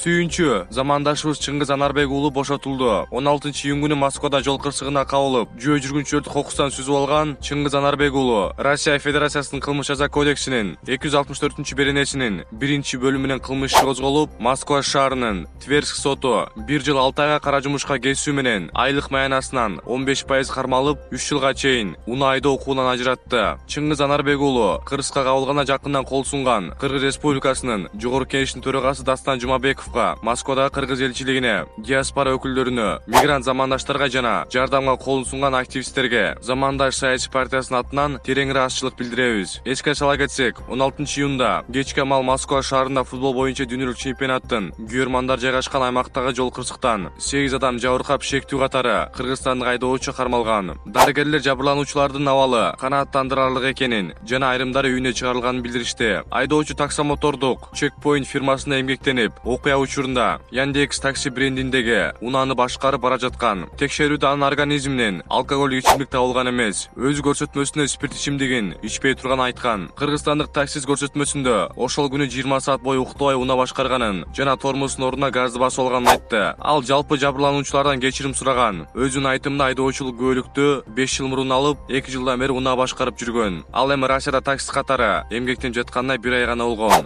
Сүйүнчү, замандашыбыз Чыңгыз Анарбек уулу бошотулду. 16-июнь күнү Москвада жол кырсыгына кабылып, жөө жүргүнчүлөрдү кокустан сүзүп алган Чыңгыз Анарбек уулу Россия Федерациясынын кылмыш жаза кодексинин 264-беренесинин 1-бөлүмүнөн кылмыш иши козголуп, Москва шаарынын Тверск соту 1 жыл 6 айга кара жумушка кесүү менен айлык маянасынан 15% кармалып, 3 жылга чейин унаа айдоо укугунан ажыратты. Чыңгыз Анарбек уулу кыргызга кабылгана жакындан кол сунган Кыргыз Республикасынын Жогорку Кеңешинин төрагасы Дастан Жумабековго, Москвадагы кыргыз элчилигине, диаспора өкүлдөрүнө, мигрант замандаштарга жана жардамга колун сунган активисттерге Замандаш саясий партиясынын атынан терең ыраазычылык билдиребиз. Эске сала кетсек, 16-июнда кечки мал Москва шаарында футбол боюнча дүйнөлүк чемпионаттын күйөрмандар жайгашкан аймактагы жол кырсыктан 8 адам жабыркап, шектүү катары кыргызстандык айдоочу кармалган. Дарыгерлер жабырлануучулардын абалы канааттандырарлык экенин жана айрымдары үйүнө чыгарылганын билдиришти. Айдоочу таксомотордук Checkpoint фирмасында эмгектенип, окуя учурунда Яндекс такси брендиндеги унааны башкарып бара жаткан. Текшерүүдө анын организминен алкоголдук ичимдик табылган эмес. Өз көрсөтмөсүндө спирт ичимдигин ичпей турганын айткан. Кыргызстандык таксист көрсөтмөсүндө ошол күнү 20 саат бою уктабай унаа башкарганын жана тормоздун ордуна газды басып алганын айтты. Ал жалпы жабырлануучулардан кечирим сураган. Өзүнүн айтымында айдоочулук күбөлүктү 5 жыл мурун алып, 2 жылдан бери унаа башкарып жүргөн. Ал эми Россияда таксист катары эмгектенип жатканына 1 ай гана болгон.